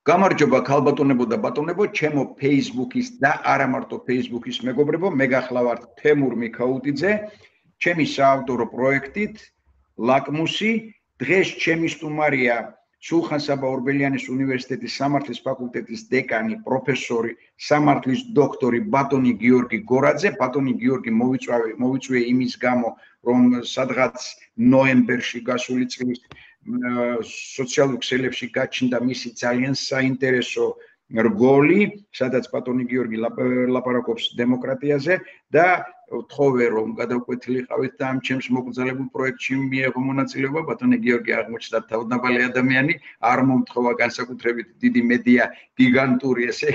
გამარჯობა ქალბატონებო და ბატონებო, ჩემო Facebook-ის და არა მარტო Facebook-ის მეგობრებო, მე გახლავართ თემურ მიქაუტიძე, ჩემი საავტორო პროექტით ლაკმუსი. დღეს ჩემი სტუმარია სულხან-საბა ორბელიანის უნივერსიტეტის სამართლის ფაკულტეტის დეკანი, პროფესორი, სამართლის დოქტორი ბატონი გიორგი გორაძე. ბატონი გიორგი მოვიწვია იმის გამო, რომ სადღაც ნოემბერში გასული წლის სოციალურ ქსელებში გაჩნდა მისი ძალიან საინტერესო რგოლი, სადაც ბატონი გიორგი ლაპარაკობს დემოკრატიაზე და ვთხოვე რომ გადავკვეთილიყავით და ამ ჩემს მოგზაურებულ პროექტში მიიღო მონაწილეობა. ბატონი გიორგი აღმოჩნდა თავდამალი ადამიანი, არ მომთხოვა განსაკუთრებით დიდი მედია გიგანტური ესე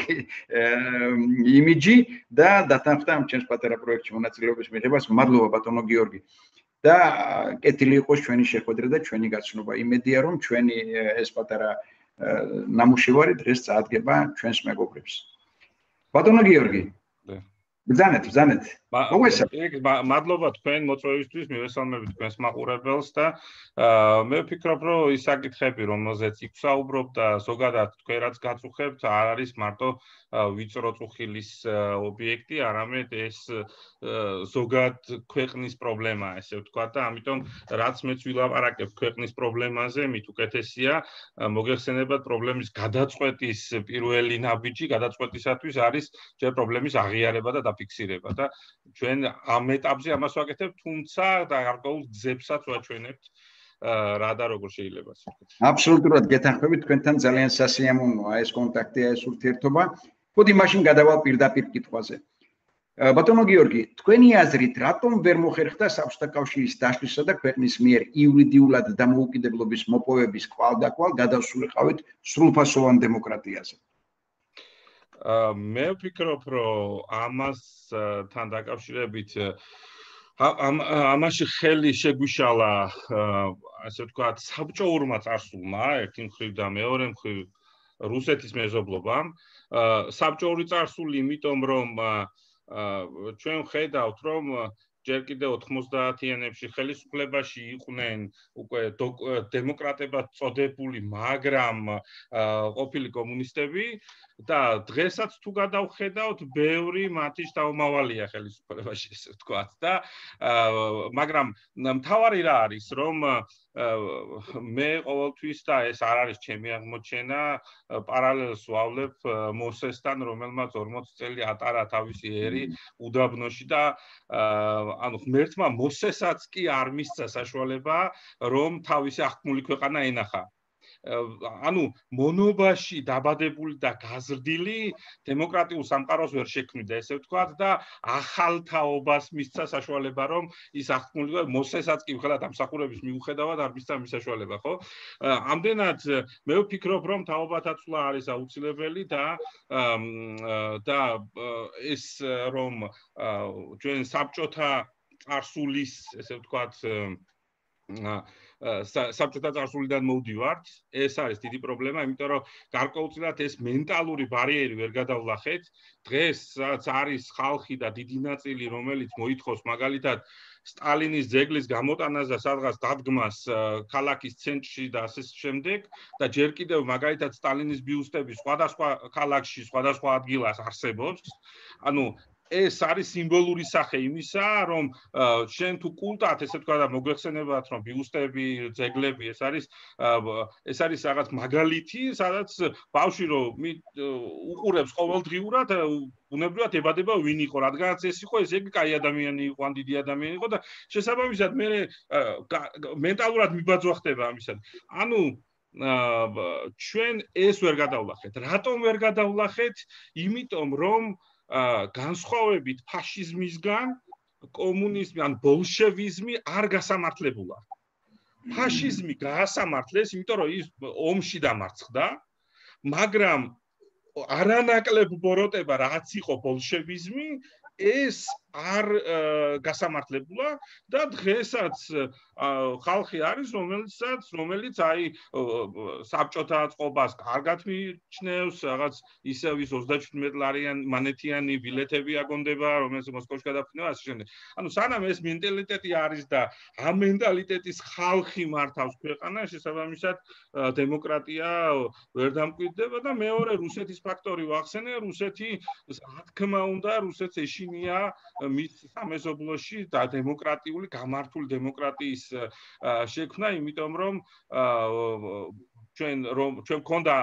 იმიჯი და დათანხმდა ამ ჩემს პატარა პროექტში მონაწილეობის მიღებას. მადლობა ბატონო გიორგი. და კეთილი იყოს ჩვენი შეხვედრა და ჩვენი გაცნობა. იმედია რომ ჩვენი ეს პატარა ნამუშევარი დღეს წაადგება ჩვენს მეგობრებს. ბატონო გიორგი. ბრძანეთ. მადლობა თქვენ მოწვევისთვის, მივესალმებით თქვენს მაყურებელს და მე ვფიქრობ, რომ ის საკითხები, რომელზეც იქ ვსაუბრობ და ზოგადად თქვენ რაც გაწუხებთ, არ არის მარტო ვიწრო წუხილის ობიექტი, არამედ ეს ზოგად ქვეყნის პრობლემაა, ესე ვთქვა და ამიტომ რაც მეც ვილაპარაკებ ქვეყნის პრობლემაზე, მით უკეთესია მოგეხსენებათ პრობლემის გადაწყვეტის პირველი ნაბიჯი, გადაწყვეტისათვის არის ჯერ პრობლემის აღიარება და დაფიქსირება და ჩვენ ამ ეტაპზე ამას ვაკეთებთ, თუმცა და გარკვეულ გზებსაც ვაჩვენებთ რა და როგორ შეიძლება ვთქვათ. აბსოლუტურად გეთანხმებით, თქვენთან ძალიან სასიამოვნოა ეს კონტაქტი, ეს ურთიერთობა. ხოდი მაშინ გადავალ პირდაპირ კითხვაზე. ბატონო გიორგი, თქვენი აზრით, რატომ ვერ მოხერხდა საბჭოთა კავშირის დაშლისა და ქვეყნის მიერ იურიდიულად დამოუკიდებლობის მოპოვების კვალდაკვალ გადასულიყავით სრულფასოვან დემოკრატიაზე? მე ვფიქრობ, რომ ამასთან დაკავშირებით ამაში ხელი შეგვიშალა, ასე ვთქვათ, საბჭოურმა წარსულმა, ერთი მხრივ და მეორე მხრივ რუსეთის მეზობლობამ. საბჭოური წარსული, იმიტომ რომ ჩვენ ვხედავთ, რომ ჯერ კიდევ 90-იანებში ხელისუფლებაში იყვნენ უკვე დემოკრატებად წოდებული, მაგრამ ყოფილი კომუნისტები და დღესაც თუ გადავხედავთ, ბევრი მათი შთამომავალია ხელისუფლებაში, ესე ვთქვათ და მაგრამ მთავარი რა არის, რომ მე ყოველთვის და ეს არ არის ჩემი აღმოჩენა, პარალელს ვავლებ მოსესთან, რომელმაც 40 წელი ატარა თავისი ერი უდაბნოში და ანუ ღმერთმა მოსესაც კი არ მისცა საშუალება, რომ თავისი აღქმული ქვეყანა ენახა. ანუ მონობაში დაბადებული და გაზრდილი დემოკრატიულ სამყაროს ვერ შექმნიდა, ესე ვთქვათ და ახალ თაობას მისცა საშუალება, რომ ის აღქმული მოსესაც კი ხელად ამსახურების მიუხედავად არ მისცა საშუალება, ხო? ამდენად მე ვფიქრობ, რომ თაობათაცვლა არის აუცილებელი და ეს რომ ჩვენ საბჭოთა წარსულის, ესე ვთქვათ, საბჭოთა წარსულიდან მოვდივართ, ეს არის დიდი პრობლემა, იმიტომ რომ გარკვეულწილად ეს მენტალური ბარიერი ვერ გადავლახეთ. დღეს რაც არის ხალხი და დიდი ნაწილი, რომელიც მოითხოვს მაგალითად სტალინის ძეგლის გამოტანას და სადღაც დადგმას ქალაქის ცენტრში და ასე შემდეგ და ჯერ კიდევ მაგალითად სტალინის ბიუსტები სხვადასხვა ქალაქში, სხვადასხვა ადგილას არსებობს. ანუ ეს არის სიმბოლური სახე იმისა, რომ შენ თუ კულტად, ესე ვთქვა და მოგვეხსენებათ, რომ ბიუსტები, ძეგლები, ეს არის რაღაც მაგალითი, სადაც ბავშვი რომ უყურებს ყოველდღიურად, უნებრივად ებადება ვინ იყო, რადგანაც ეს იყო, ესე იგი კაი ადამიანი იყო, ან დიდი ადამიანი იყო და შესაბამისად მე მენტალურად მიბაძვა ხდება ამისად. ანუ ჩვენ ეს ვერ გადავლახეთ. რატომ ვერ გადავლახეთ? იმიტომ რომ განსხვავებით ფაშიზმისგან კომუნიზმი ან ბოლშევიზმი არ გასამართლებულა. ფაშიზმი გაასამართლეს, იმიტომ რომ ის ომში დამარცხდა, მაგრამ არანაკლებ ბოროტება რაც იყო ბოლშევიზმი, ეს არ გასამართლებულა და დღესაც ხალხი არის რომელიც აი საბჭოთა წყობას კარგად მიიჩნევს, რაღაც ისევ ის 37 ლარიანი მანეთიანი ბილეთები აგონდება, რომელიც მოსკოვში გადაფრინდება ასე შემდეგ. ანუ სანამ ეს მენტალიტეტი არის და ამ მენტალიტეტის ხალხი მართავს ქვეყანას, შესაბამისად დემოკრატია ვერ დამკვიდრდება და მეორე რუსეთის ფაქტორი ვახსენე, რუსეთი რა თქმა უნდა რუსეთს ეშინია მის სამეზობლოში და დემოკრატიული გამართული დემოკრატიის შექმნა, იმიტომ რომ ჩვენ გქონდა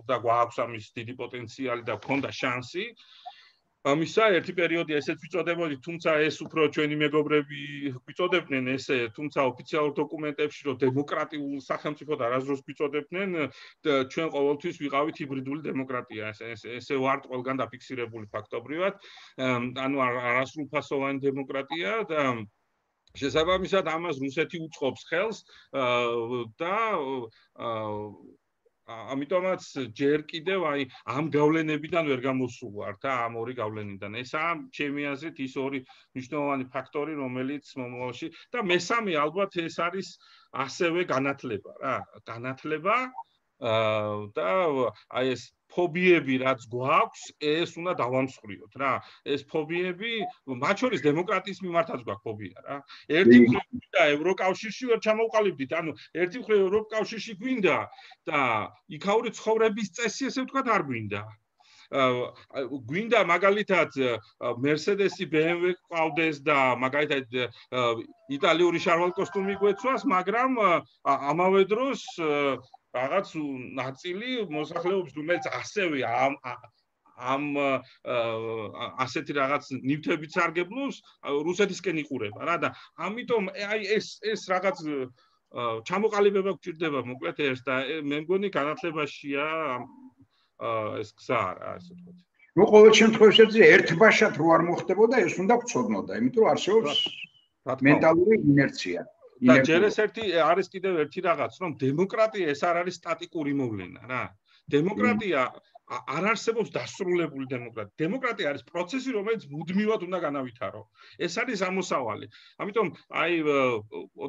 და გვაქვს ამის დიდი პოტენციალი და გქონდა შანსი. ამისა ერთი პერიოდი ესეც ვიწოდებოდი, თუმცა ეს უფრო ჩვენი მეგობრები ვიწოდებდნენ ესე, თუმცა ოფიციალურ დოკუმენტებში რომ დემოკრატიულ სახელმწიფოდ არასდროს ვიწოდებდნენ, ჩვენ ყოველთვის ვიყავით ჰიბრიდული დემოკრატია. ესე ვართ ყველგან დაფიქსირებული ფაქტობრივად, ანუ არასრულფასოვანი დემოკრატია და შესაბამისად ამას რუსეთი უწყობს ხელს და ამიტომაც ჯერ კიდევ აი ამ გავლენებიდან ვერ გამოსულ ვარ და ამ ორი გავლენიდან. ესაა ჩემი აზრით ის ორი მნიშვნელოვანი ფაქტორი, რომელიც მომავალში და მესამე ალბათ ეს არის ასევე განათლება რა. განათლება და აი ეს ფობიები რაც გვაქვს, ეს უნდა დავამსხვრიოთ რა. ეს ფობიები, მათ შორის დემოკრატიის მიმართაც გვაქვს ფობია რა. ერთი მხრივ და ევროკავშირში ვერ ჩამოვყალიბდით, ანუ ერთი მხრივ ევროკავშირში გვინდა და იქაური ცხოვრების წესი ესე ვთქვათ არ გვინდა. გვინდა მაგალითად Mercedes-ი, BMW ყავდეს და მაგალითად იტალიური შარვალ კოსტუმი გვეცვას, მაგრამ ამავე დროს რაღაც ნაწილი მოსახლეობის, რომელიც ასევე ამ ასეთი რაღაც ნივთებით სარგებლობს, რუსეთისკენ იყურება რა და ამიტომ აი ეს რაღაც ჩამოყალიბება გვჭირდება მოკლედ ეს და მე მგონი განათლებაშია ეს გზა რა ასე ვთქვათ. ნუ ყოველ შემთხვევაში ერთბაშად რო არ მოხდებოდა, ეს უნდა გვწოდნოდა, იმიტომ რომ არსებობს მენტალური ინერცია. და ჯერ ეს არის კიდევ ერთი რაღაც, რომ დემოკრატია ეს არ არის სტატიკური მოვლენა რა. დემოკრატია არ არსებობს დასრულებული დემოკრატია. დემოკრატია არის პროცესი, რომელიც მუდმივად უნდა განავითარო. ეს არის ამოსავალი. ამიტომ აი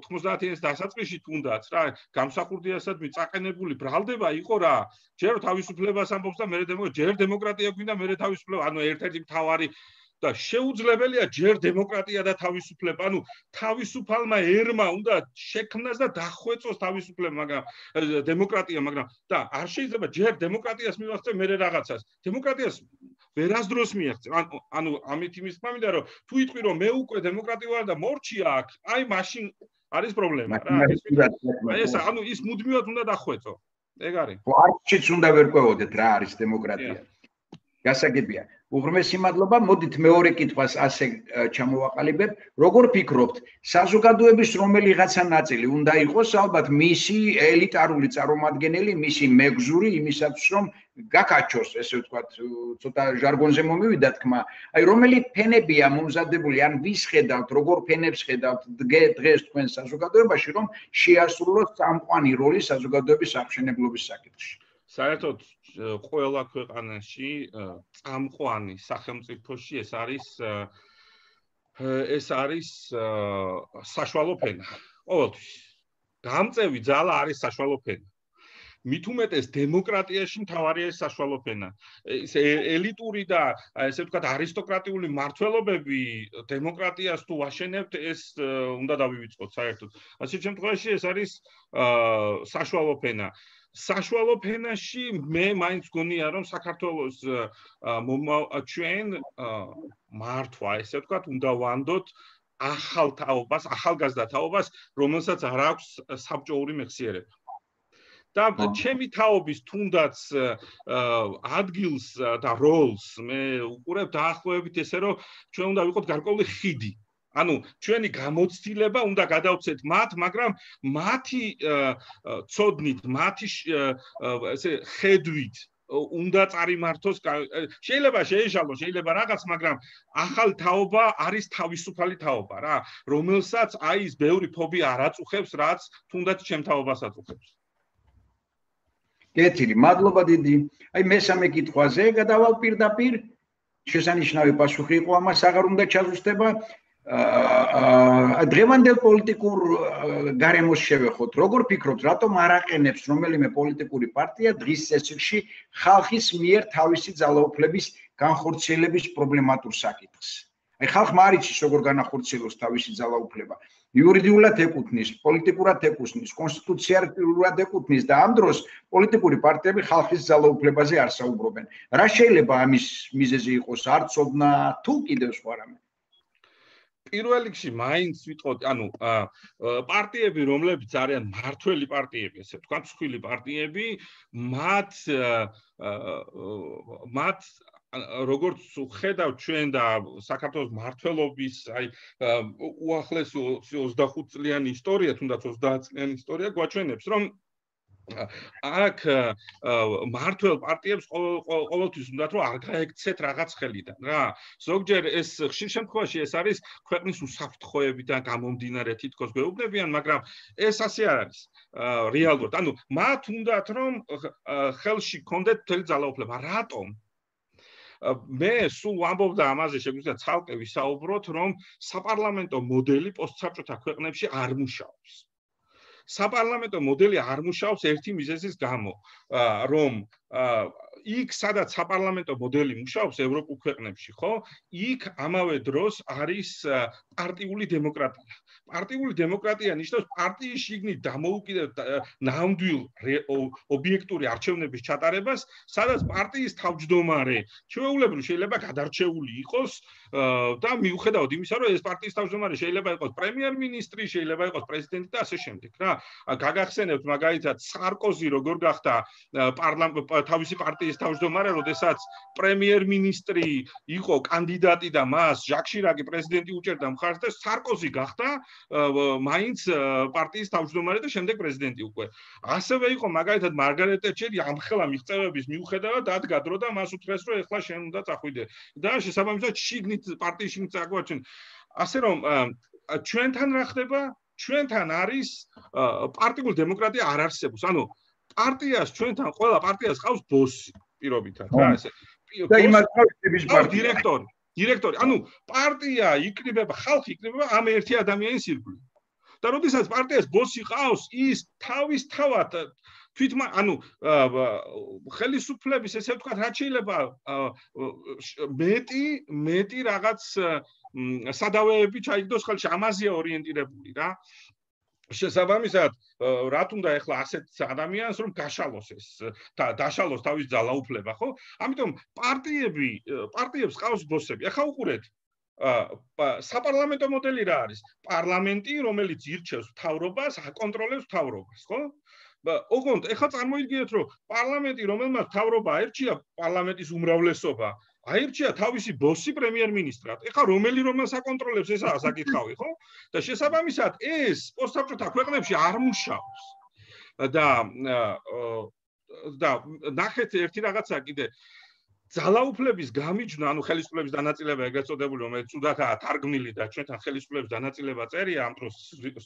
90-იანის დასაწყისში თუნდაც რა, გამსახურდიასად მიწაყენებული ბრალდება იყო რა. ჯერ თავისუფლებას ამბობს და მერე ჯერ დემოკრატია გვინდა, მერე თავისუფლება, ანუ ერთ-ერთი მთავარი და შეუძლებელია ჯერ დემოკრატია და თავისუფლება, ანუ თავისუფალმა ერმა უნდა შექმნას და დახვეწოს თავისუფლება, მაგრამ დემოკრატია, მაგრამ და არ შეიძლება ჯერ დემოკრატიას მივახცე მერე რაღაცას. დემოკრატიას ვერასდროს მიაღწევ. ანუ ამით იმის თქმა მინდა, რომ თუ იტყვი რომ მე უკვე დემოკრატია ვარ და მორჩია აქ, აი მაშინ არის პრობლემა რა. ეს ანუ ის მუდმივად უნდა დახვეწო. ეგ არის. არჩიც უნდა ვერ ყვევოდეთ რა არის დემოკრატია. გასაგებია. უღრმესი მადლობა, მოდით მეორე კითხვას ასე ჩამოვაყალიბებ. როგორ ფიქრობთ, საზოგადოების რომელიღაცა ნაწილი უნდა იყოს ალბათ მისი ელიტარული წარმომადგენელი, მისი მეგზური იმისათვის, რომ გაკაჩოს, ესე ვთქვათ, ცოტა ჟარგონზე მომივიდა თქმა. აი რომელი ფენებია მომზადებული, ან ვის ხედავთ, როგორ ფენებს ხედავთ დღეს თქვენ საზოგადოებაში, რომ შეასრულოს წამყვანი როლი საზოგადოების აღმშენებლობის საკითხში. საერთოდ ყველა ქვეყანაში წამყვანი სახელმწიფოში ეს არის საშუალო ფენა. ყოველთვის. გამწევი ძალა არის საშუალო ფენა. მით უმეტეს დემოკრატიაში მთავარია ეს საშუალო ფენა. ეს ელიტური და ესე ვთქვათ არისტოკრატიული მმართველობები დემოკრატიას თუ ვაშენებთ, ეს უნდა დავივიწყოთ საერთოდ. ასეთ შემთხვევაში ეს არის საშუალო ფენა. საშუალო ფენაში მე მაინც გონია რომ საქართველოს ჩვენ მართვა ესე ვთქვათ უნდა ვანდოთ ახალ თაობას, ახალგაზრდა თაობას, რომელსაც არ აქვს საბჭოური მეხსიერება. და ჩემი თაობის თუნდაც ადგილს და როლს მე უყურებ დაახლოებით ესე რომ ჩვენ უნდა ვიყოთ გარკვეული ხიდი. ანუ ჩვენი გამოცდილება უნდა გადავცეთ მათ, მაგრამ მათი ცოდნით, მათი ესე ხედვით უნდა წარიმართოს. შეიძლება შეეშალოს, შეიძლება რაღაც, მაგრამ ახალ თაობა არის თავისუფალი თაობა რა, რომელსაც აი ის ბევრი ფობია არ აწუხებს, რაც თუნდაც ჩემ თაობას აწუხებს. კეთილი, მადლობა დიდი. აი მესამე კითხვაზე გადავალ პირდაპირ. შესანიშნავი პასუხი იყო ამას აღარ უნდა ჩაზუსტება დღევანდელ პოლიტიკურ გარემოს შევეხოთ როგორ ფიქრობთ რატომ არ აყენებს რომელიმე პოლიტიკური პარტია დღის წესრიგში ხალხის მიერ თავისი ძალაუფლების განხორციელების პრობლემატურ საკითხს აი ხალხმა არ იცის როგორ განახორციელოს თავისი ძალაუფლება იურიდიულად ეკუთვნის პოლიტიკურად ეკუთვნის კონსტიტუციურად ეკუთვნის და ამ დროს პოლიტიკური პარტიები ხალხის ძალაუფლებაზე არ საუბრობენ რა შეიძლება ამის მიზეზი იყოს არ ცოდნა თუ კიდევ სხვა რამე პირველ რიგში მაინც ვიტყოდი, ანუ პარტიები, რომლებიც არიან მართველი პარტიები, ესე ვთქვათ, მსხვილი პარტიები, მათ როგორც ხედავთ ჩვენ და საქართველოს მმართველობის, აი უახლეს 25 წლიანი ისტორია, თუნდაც 30 წლიანი ისტორია გვაჩვენებს, რომ აქ მმართველ პარტიებს ყოველთვის უნდათ რომ არ გაექცეთ რაღაც ხელიდან რა ზოგჯერ ეს ხშირ შემთხვევაში ეს არის ქვეყნის უსაფრთხოებიდან გამომდინარე თითქოს გვეუბნებიან მაგრამ ეს ასე არ არის რეალურად ანუ მათ უნდათ რომ ხელში კონდეთ მთელი ძალაუფლება რატომ მე სულ ვამბობდა ამაზე შეგვიძლია ცალკე ვისაუბროთ რომ საპარლამენტო მოდელი პოსტსაბჭოთა ქვეყნებში არ მუშაობს საპარლამენტო მოდელი არ მუშაობს ერთი მიზეზის გამო, რომ იქ სადაც საპარლამენტო მოდელი მუშაობს ევროპულ ქვეყნებში, ხო? იქ ამავე დროს არის პარტიული დემოკრატია. პარტიული დემოკრატია ნიშნავს პარტიის შიგნით დამოუკიდებელ ნამდვილ ობიექტური არჩევნების ჩატარებას, სადაც პარტიის თავმჯდომარე ჩვეულებრივ შეიძლება გადარჩეული იყოს და მიუხედავად იმისა, რომ ეს პარტიის თავმჯდომარე შეიძლება იყოს პრემიერ-მინისტრი, შეიძლება იყოს პრეზიდენტი და ასე შემდეგ, რა. გაგახსენებთ მაგალითად სარკოზი როგორ გახდა თავისი პარტიის თავმჯდომარე, როდესაც პრემიერ-მინისტრი იყო კანდიდატი და მას ჟაკ შირაკი პრეზიდენტი უჭერდა მხარს და სარკოზი გახდა მაინც პარტიის თავმჯდომარე და შემდეგ პრეზიდენტი უკვე. ასევე იყო მაგალითად მარგარეტ ტეტჩერი ამხელა მიღწევების მიუხედავად დადგა დრო და მას უთხრეს რომ ეხლა შენ უნდა წახვიდე. და შესაბამისად შიგნით პარტიის შიგნით წაგვაჩენ. ასე რომ ჩვენთან რა ხდება? ჩვენთან არის პარტიული დემოკრატია არ არსებობს. ანუ პარტიას ჩვენთან ყველა პარტიას ყავს ბოსი პირობითად რა ესე. და იმას ყავს დირექტორი. დირექტორი. ანუ პარტია იკრიბება, ხალხი იკრიბება ამ ერთი ადამიანის ირგვლივ. და როდესაც პარტიას ბოსი ყავს, ის თავისთავად თვითონ ანუ ხელისუფლების ესე ვთქვათ, რაც შეიძლება მეტი რაღაც სადავეები ჩაიგდოს ხელში, ამაზეა ორიენტირებული რა. შესაბამისად, რა თუნდა ეხლა ასეთ ადამიანს რომ გაშალოს ეს და დაშალოს თავის ძალაუფლება, ხო? ამიტომ პარტიებს ყავს ბოსები. ახლა უყურეთ საპარლამენტო მოდელი რა არის? პარლამენტი, რომელიც ირჩევს მთავრობას, აკონტროლებს მთავრობას, ხო? ოღონდ ეხლა წარმოიდგინეთ, რომ პარლამენტი, რომელმაც მთავრობა აირჩია, პარლამენტის უმრავლესობა აირჩია თავისი ბოსი პრემიერ-მინისტრად. ეხლა რომელს აკონტროლებს ესაა საკითხავი, ხო? და შესაბამისად ეს პოსტსაბჭოთა ქვეყნებში არ მუშაობს. და ნახეთ ერთი რაღაცა კიდე ძალაუფლების გამიჯვნა, ანუ ხელისუფლების დანაწილება ეგრეთ წოდებული, რომელიც ცუდათაა თარგმნილი და ჩვენთან ხელისუფლების დანაწილება წერია, ამ დროს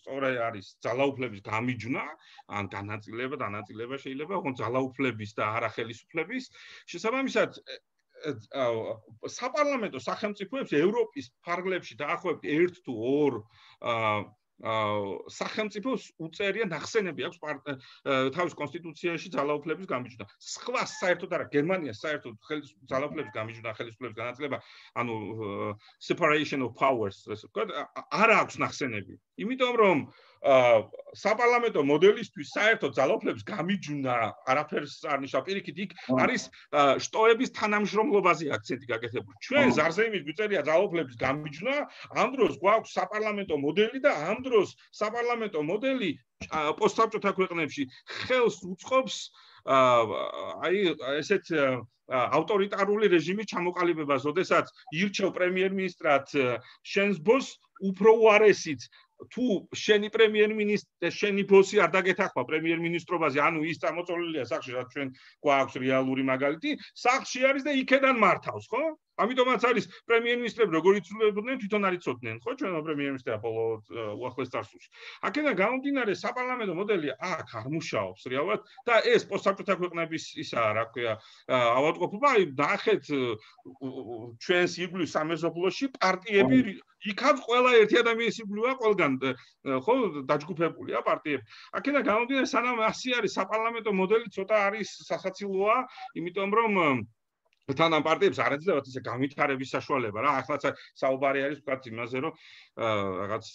სწორედ არის ძალაუფლების გამიჯვნა, ან დანაწილება შეიძლება, ოღონდ ძალაუფლების და არა ხელისუფლების. შესაბამისად საპარლამენტო სახელმწიფოებს ევროპის ფარგლებში დაახლოებით 1 თუ 2 სახელმწიფოს უწერია ნახსენები აქვს თავის კონსტიტუციაში ძალაუფლების გამიჯვნა. სხვა საერთოდ არა, გერმანიას საერთოდ ძალაუფლების გამიჯვნა, ხელისუფლების განაწილება, ანუ separation of powers, ასე ვთქვათ, არ აქვს ნახსენები. იმიტომ რომ საპარლამენტო მოდელისთვის საერთოდ ძალაუფლების გამიჯვნა არაფერს არ ნიშნავს. პირიქით, იქ არის შტოების თანამშრომლობაზე აქცენტი გაკეთებული. ჩვენ ზარზეიმის გვიწერია ძალაუფლების გამიჯვნა, ამ დროს გვაქვს საპარლამენტო მოდელი და ამ დროს საპარლამენტო მოდელი პოსტსაბჭოთა ქვეყნებში ხელს უწყობს აი ესეთ ავტორიტარული რეჟიმის ჩამოყალიბებას, როდესაც ირჩევ პრემიერ-მინისტრად შენს ბოსს, უფრო უარესით თუ შენი პრემიერ-მინისტრი, შენი ბოსი არ დაგეთახმა პრემიერ-მინისტრობაზე, ანუ ის წამოწოლილია სახლში, რაც ჩვენ გვაქვს რეალური მაგალითი, სახლში არის და იქედან მართავს, ხო? ამიტომაც არის პრემიერ-მინისტრები როგორ იცვლებოდნენ თვითონ არ იცოდნენ, ხო, ჩვენო პრემიერ-მინისტრი უახლეს წარსულში. აქედან გამომდინარე საპარლამენტო მოდელი აქ არ მუშაობს რეალურად და ეს პოსტსაბჭოთა ქვეყნების ისაა, რა ქვია, ავადმყოფობა, აი ნახეთ ჩვენს ირგვლივ სამეზობლოში პარტიები იქაც ყველა ერთი ადამიანის ირგვლივა ყველგან ხო დაჯგუფებულია პარტიები. აქედან გამომდინარე სანამ ასე არის საპარლამენტო მოდელი ცოტა არის სასაცილოა, იმიტომ რომ თან ამ პარტიებს არ ეძლევათ ისე განვითარების საშუალება რა ახლა საუბარი არის ვთქვათ იმაზე რომ რაღაც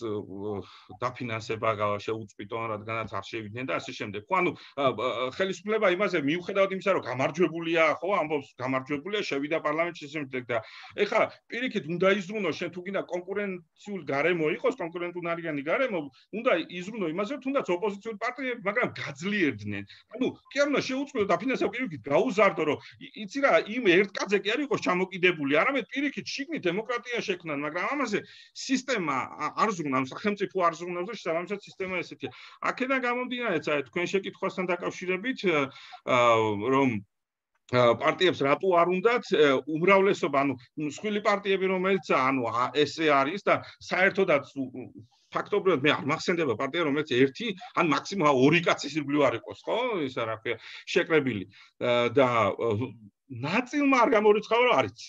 დაფინანსება შეუწყვიტონ რადგანაც არ შევიდნენ და ასე შემდეგ. ხო ანუ ხელისუფლება იმაზე მიუხედავად იმისა რომ გამარჯვებულია ხო ამბობს გამარჯვებულია შევიდა პარლამენტში ესე შემდეგ და ეხლა პირიქით უნდა იზრუნო შენ თუ გინდა კონკურენციულ გარემო იყოს კონკურენტუნარიანი გარემო უნდა იზრუნო იმაზე რომ თუნდაც ოპოზიციური პარტიები მაგრამ გაძლიერდნენ. ანუ კი არ უნდა შეუწყვიტო დაფინანსება პირიქით გაუზარდო რომ იცი რა იმ ერთ კაცზე კი არ იყოს ჩამოკიდებული, არამედ პირიქით შიგნით დემოკრატია შექმნან, მაგრამ ამაზე სისტემა არ ზრუნავს, სახელმწიფო არ ზრუნავს და შესაბამისად სისტემა ესეთია. აქედან გამომდინარე, თქვენ შეკითხვასთან დაკავშირებით, რომ პარტიებს რატო არ უნდათ უმრავლესობა, ანუ მსხვილი პარტიები რომელიც ანუ ესე არის და საერთოდაც ფაქტობრივად მე არ მახსენდება პარტია რომელიც ერთი ან მაქსიმუმ ორი კაცის ირგვლივ არ იყოს, ხო? ისა რა ქვია, შეკრებილი და ნაწილმა არ გამორიცხავა რომ არის.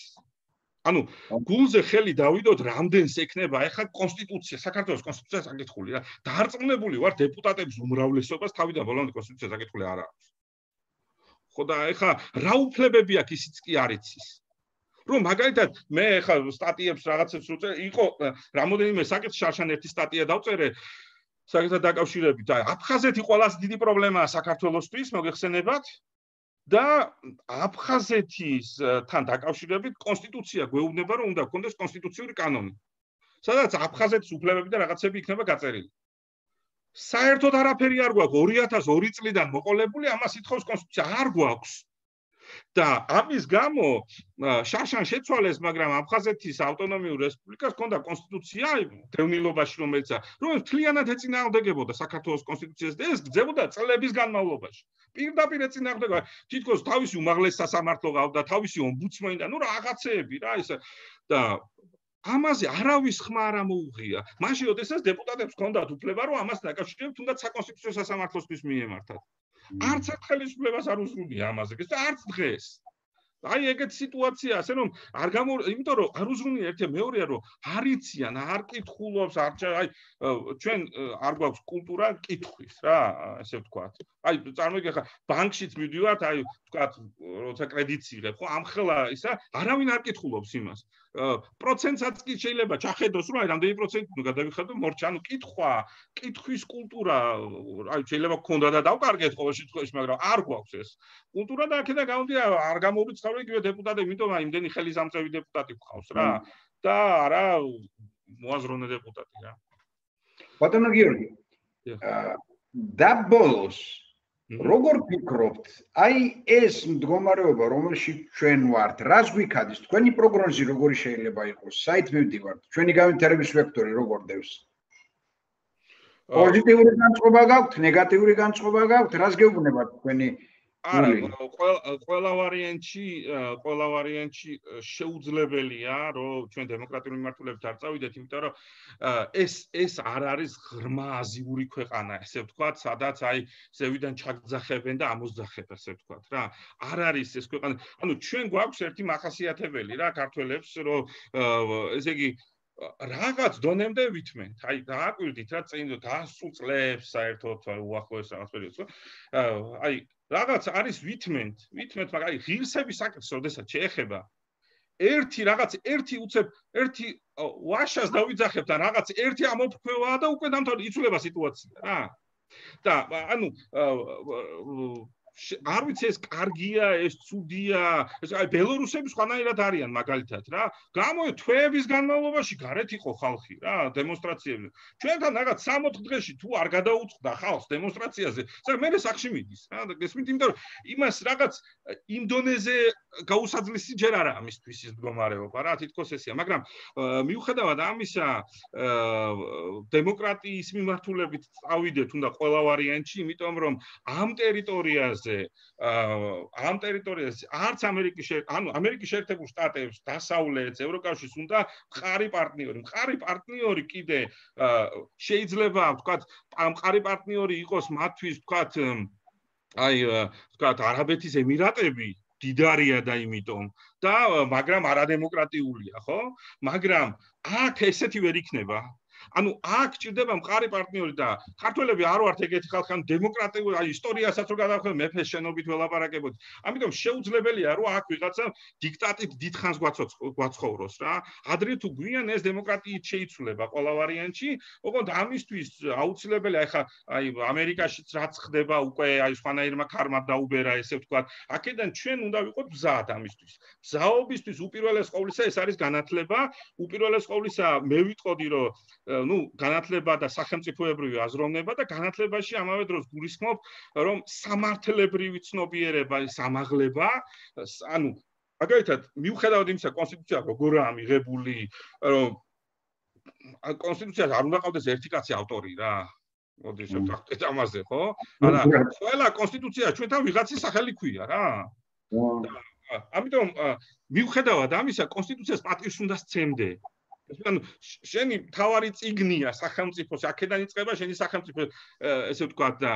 ანუ გულზე ხელი დავიდოთ რამდენს ექნება ეხლა კონსტიტუცია, საქართველოს კონსტიტუცია საკითხული რა. დარწმუნებული ვარ დეპუტატების უმრავლესობას თავიდან ბოლომდე კონსტიტუცია საკითხული არ არის. ხო და ეხლა რა უფლებები აქვს ისიც კი არ იცის. რომ მაგალითად მე ეხლა სტატიებს რაღაცებს უწერ იყო რამოდენიმე საკითხი შარშან ერთი სტატია დავწერე საკითხთან დაკავშირებით. აი აფხაზეთი ყველაზე დიდი პრობლემაა საქართველოსთვის, მოგეხსენებათ? და აფხაზეთისთან დაკავშირებით კონსტიტუცია გვეუბნება რომ უნდა გქონდეს კონსტიტუციური კანონი. სადაც აფხაზეთის უფლებები და რაღაცები იქნება გაწერილი. საერთოდ არაფერი არ გვაქვს 2002 წლიდან მოყოლებული, ამას ითხოვს კონსტიტუცია, არ გვაქვს. და ამის გამო შარშან შეცვალეს, მაგრამ აფხაზეთის ავტონომიურ რესპუბლიკას ჰქონდა კონსტიტუცია დევნილობაში, რომელიც მთლიანად ეწინააღმდეგებოდა საქართველოს კონსტიტუციას და ეს გრძელდება წლების განმავლობაში. პირდაპირ ეწინააღმდეგება, თითქოს თავისი უმაღლესი სასამართლო ყავდა, თავისი ომბუდსმენი და ნუ რაღაცეები რა ისე და ამაზე არავის ხმა არ მოუღია. მაშინ როდესაც დეპუტატებს ჰქონდათ უფლება, რომ ამას დაკავშირებთ თუნდაც საკონსტიტუციო სასამართლოსთვის მიემართათ. არც ერთ ხელისუფლებას არ უზრუნია ამაზე და არც დღეს. აი ეგეთი სიტუაცია, ასე რომ არ იმიტომ რომ არ უზრუნია ერთი მეორეა რომ არ იციან, არ კითხულობს, აი ჩვენ არ გვაქვს კულტურა კითხვის რა, ესე ვთქვათ. აი წარმოიდგინე ხა ბანკშიც მივდივართ, აი ვთქვათ, როცა კრედიტს იღებ, ხო, ამხელა ისა არავინ არ კითხულობს იმას. პროცენტსაც კი შეიძლება ჩახედოს, რომ აი რამდენი პროცენტი ნუ გადავიხადო მორჩა, ანუ კითხვის კულტურა, აი შეიძლება გქონდა და დავკარგეთ ყოველ შემთხვევაში, მაგრამ არ გვაქვს ეს კულტურა და აქედან გამომდინარე არ გამორიცხავდა იგივე დეპუტატები, იმიტომ აი იმდენი ხელისამწევი დეპუტატი გყავს რა და არა მოაზროვნე დეპუტატი რა. ბატონო გიორგი, და ბოლოს როგორ ფიქრობთ, აი ეს მდგომარეობა, რომელშიც ჩვენ ვართ, რას გვიქადის? თქვენი პროგნოზი როგორი შეიძლება იყოს? საით მივდივართ? ჩვენი განვითარების ვექტორი როგორ დევს? პოზიტიური განწყობა გაქვთ, ნეგატიური განწყობა გაქვთ, რას გეუბნებათ თქვენი? არა, ყველა ვარიანტში შეუძლებელია, რომ ჩვენ დემოკრატიული მიმართულებით არ წავიდეთ, იმიტომ რომ ეს არ არის ღრმა აზიური ქვეყანა, ესე ვთქვათ, სადაც აი ზევიდან ჩაგძახებენ და ამოძახებ, ესე ვთქვათ რა. არ არის ეს ქვეყანა. ანუ ჩვენ გვაქვს ერთი მახასიათებელი რა ქართველებს, რომ ესე იგი რაღაც დონემდე ვითმენთ. აი დააკვირდით რა წინ გასულ წლებს საერთოდ უახლოეს რაღაც პერიოდს. აი რაღაც არის ვითმენთ, მაგრამ აი ღირსების საკითხს როდესაც შეეხება ერთი უცებ ერთი ვაშას დავიძახებთ და რაღაც ერთი ამოფრქვევაა და უკვე დამთავრდა იცვლება სიტუაცია რა. და ანუ არ ვიცი ეს კარგია, ეს ცუდია, ეს აი ბელორუსები სხვანაირად არიან მაგალითად რა. გამოი თვეების განმავლობაში გარეთ იყო ხალხი რა, დემონსტრაციები. ჩვენთან რაღაც 60 დღეში თუ არ გადაუწყდა ხალხს დემონსტრაციაზე, მე სახში მიდის რა. გესმით, იმიტომ რომ იმას რაღაც იმ დონეზე გაუსაძლისი ჯერ არა ამისთვის ის მდგომარეობა რა თითქოს ესეა მაგრამ მიუხედავად ამისა დემოკრატიის მიმართულებით წავიდეთ უნდა ყველა ვარიანტში იმიტომ რომ ამ ტერიტორიაზე არც ამერიკის შეერთებულ შტატებს დასავლეთს ევროკავშირს უნდა მყარი პარტნიორი კიდე შეიძლება ვთქვათ ამ მყარი პარტნიორი იყოს მათთვის ვთქვათ არაბეთის ემირატები დიდარია და იმიტომ და მაგრამ არადემოკრატიულია ხო მაგრამ აქ ესეთი ვერ იქნება ანუ აქ ჭირდება მყარი პარტნიორი და ქართველები არ ვართ ეგეთი ხალხი ან დემოკრატიული ისტორიასაც რო გადავხედოთ მეფეს შენობით ველაპარაკებოდი ამიტომ შეუძლებელია რომ აქ ვიღაცა დიქტატით დიდხანს გვაცხოვროს რა ადრე თუ გვიან ეს დემოკრატიით შეიცვლება ყველა ვარიანტში ოღონდ ამისთვის აუცილებელია ხა აი ამერიკაშიც რაც ხდება უკვე აი სხვანაირმა ქარმა დაუბერა ესე ვთქვათ აქედან ჩვენ უნდა ვიყოთ მზად ამისთვის მზაობისთვის უპირველეს ყოვლისა ეს არის განათლება უპირველეს ყოვლისა მე ვიტყოდი რომ განათლება და სახელმწიფოებრივი აზროვნება და განათლებაში ამავე დროს გულისხმობ რომ სამართლებრივი ცნობიერება სამაღლება ანუ მაგალითად მიუხედავად იმისა კონსტიტუცია როგორაა მიღებული რომ კონსტიტუციას არ უნდა ყავდეს ერთი კაცი ავტორი რა მოდი შევთანხმდეთ ამაზე ხო არა ყველა კონსტიტუცია ჩვენთან ვიღაცის სახელი ქვია რა ამიტომ მიუხედავად ამისა კონსტიტუციას პატივს უნდა სცემდე ანუ შენი თავარი წიგნია სახელმწიფოს აქედან იწყება შენი სახელმწიფო ესე ვთქვათ და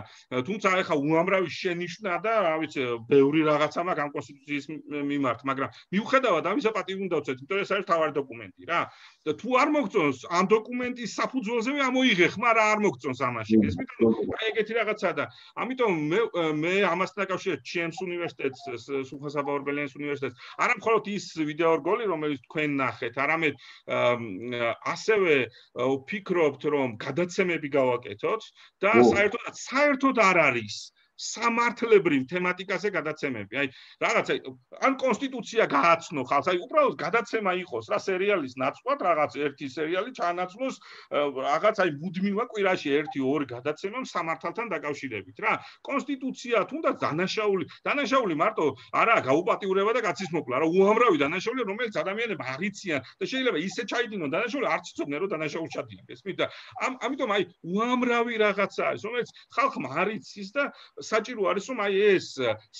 თუმცა ეხა უამრავი შენიშვნა და რა ვიცი ბევრი რაღაცა მაქვს ამ კონსტიტუციის მიმართ მაგრამ მიუხედავად ამისა პატივი უნდა ვცეთ იმიტომ ეს არის თავარი დოკუმენტი რა და თუ არ მოგწონს ამ დოკუმენტის საფუძველზევე ამოიღე ხმა რა არ მოგწონს ამაში ეს იმიტომ აი ეგეთი რაღაცა და ამიტომ მე ამასთან დაკავშირებით ჩემს უნივერსიტეტს სულხან-საბა ორბელიანის უნივერსიტეტს არა მხოლოდ ის ვიდეო რგოლი რომელიც თქვენ ნახეთ არამედ ასევე ვფიქრობთ რომ გადაცემები გავაკეთოთ და საერთოდ არ არის სამართლებრივ თემატიკაზე გადაცემები. აი რაღაცა ან კონსტიტუცია გააცნო ხალხს, აი უბრალოდ გადაცემა იყოს რა სერიალის ნაცვლად რაღაც ერთი სერიალი ჩაანაცვლოს რაღაც აი მუდმივა კვირაში 1-2 გადაცემა სამართალთან დაკავშირებით რა. კონსტიტუცია თუნდაც დანაშაული მარტო არა გაუპატიურება და კაცის მოკვლა რა უამრავი დანაშაული რომელიც ადამიანები არ იციან და შეიძლება ისე ჩაიდინონ დანაშაული არც იცოდნენ რომ დანაშაული ჩადიან. ესმით და ამიტომ აი უამრავი რაღაცაა ის რომელიც ხალხმა არ იცის და საჭირო არის რომ აი ეს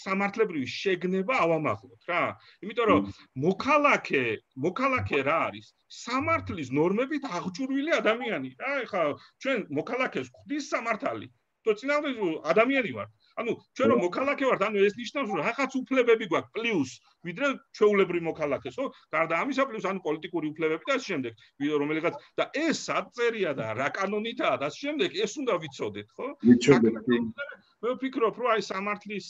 სამართლებრივი შეგნება ავამაღლოთ რა. იმიტომ რომ მოქალაქე რა არის? სამართლის ნორმებით აღჭურვილი ადამიანი რა. ეხლა ჩვენ მოქალაქეს გვხდის სამართალი. თუ წინააღმდეგ ადამიანი ვართ. ანუ ჩვენ რომ მოქალაქე ვართ, ანუ ეს ნიშნავს რომ რაღაც უფლებები გვაქვს პლუს ვიდრე ჩვეულებრივი მოქალაქეს, ხო? გარდა ამისა პლუს ანუ პოლიტიკური უფლებები და ამ შემდეგ, რომელიღაც და ეს საწერია და რა კანონითაა და ამ შემდეგ ეს უნდა ვიცოდეთ, ხო? მე ვფიქრობ, რომ აი სამართლების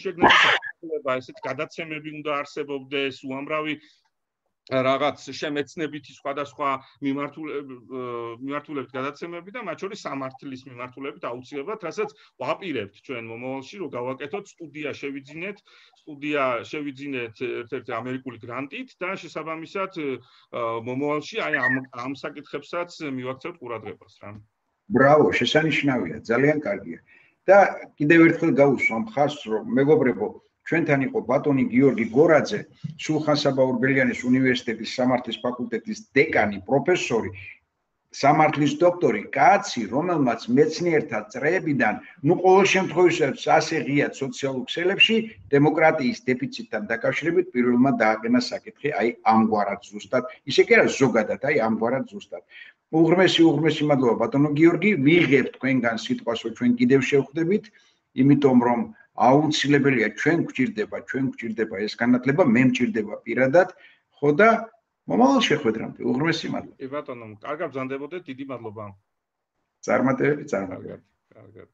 შეგნების უფლება, ესეთ გადაცემები უნდა არსებობდეს, უამრავი რაღაც შემეცნებითი სხვადასხვა მიმართულებით გადაცემები და მათ შორის სამართლის მიმართულებით აუცილებლად, რასაც ვაპირებთ ჩვენ მომავალში, რომ გავაკეთოთ სტუდია შევიძინეთ ერთ-ერთი ამერიკული გრანტით და შესაბამისად მომავალში აი ამ საკითხებსაც მივაქცევთ ყურადღებას რა. ბრავო, შესანიშნავია, ძალიან კარგია. და კიდევ ერთხელ გავუსვა მხარს, რომ მეგობრებო, ჩვენთან იყო ბატონი გიორგი გორაძე, სულხან-საბა ორბელიანის უნივერსიტეტის სამართლის ფაკულტეტის დეკანი, პროფესორი, სამართლის დოქტორი, კაცი, რომელმაც მეცნიერთა წრეებიდან, ყოველ შემთხვევაში ასე ღიად სოციალურ ქსელებში დემოკრატიის დეფიციტთან დაკავშირებით პირველმა დააყენა საკითხი, აი ამგვარად ზუსტად, ისე კი არა ზოგადად, აი ამგვარად ზუსტად. უღრმესი მადლობა ბატონო გიორგი, ვიღებთ თქვენგან სიტყვას, რომ ჩვენ კიდევ შევხვდებით, იმიტომ რომ აუცილებელია ჩვენ გვჭირდება ეს განათლება, მე მჭირდება პირადად, ხო და მომავალ შეხვედრამდე უღრმესი მადლობა. კი ბატონო, კარგად ბრძანდებოდეთ, დიდი მადლობა. წარმატებები. კარგად.